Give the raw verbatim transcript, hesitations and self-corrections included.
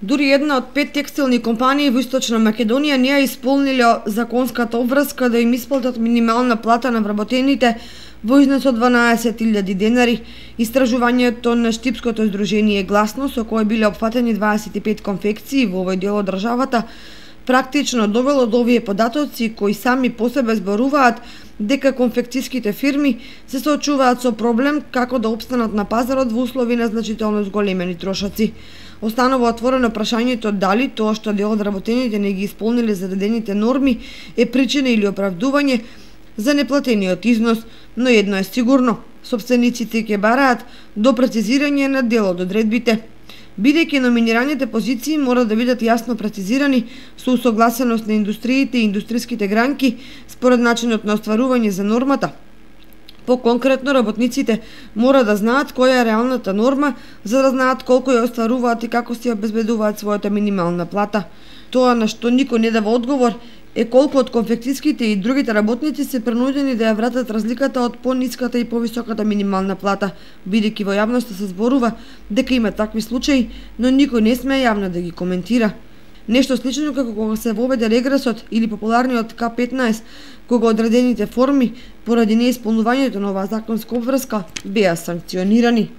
Дури една од пет текстилни компании во Источна Македонија не ја исполниле законската обврска да им исплатат минимална плата на вработените во износ од дванаесет илјади денари. Истражувањето на Штипското здружение Гласно, со кое биле опфатени дваесет и пет конфекции во овој дел од државата, практично довело до овие податоци кои сами по себе зборуваат дека конфекцијските фирми се соочуваат со проблем како да опстанат на пазарот во услови на значително зголемени трошоци. Останува отворено прашањето дали тоа што дел од работените не ги исполниле заведените норми е причина или оправдување за неплатениот износ, но едно е сигурно, сопствениците ќе бараат до прецизирање на дел од одредбите. Бидејќи номинираните позиции мора да бидат јасно прецизирани со усогласеност на индустриите и индустриските гранки според начинот на остварување за нормата. По-конкретно, работниците мора да знаат која е реалната норма, за да знаат колку ја остваруваат и како си обезбедуваат својата минимална плата. Тоа на што никој не дава одговор е колку од конфекцијските и другите работници се принудени да ја вратат разликата од пониската и повисоката минимална плата, бидејќи во јавноста се зборува дека има такви случаи, но никој не смее јавно да ги коментира. Нешто слично како кога се воведе регресот или популарниот К петнаесет, кога одредените форми поради неисполнувањето на оваа законска обврска беа санкционирани.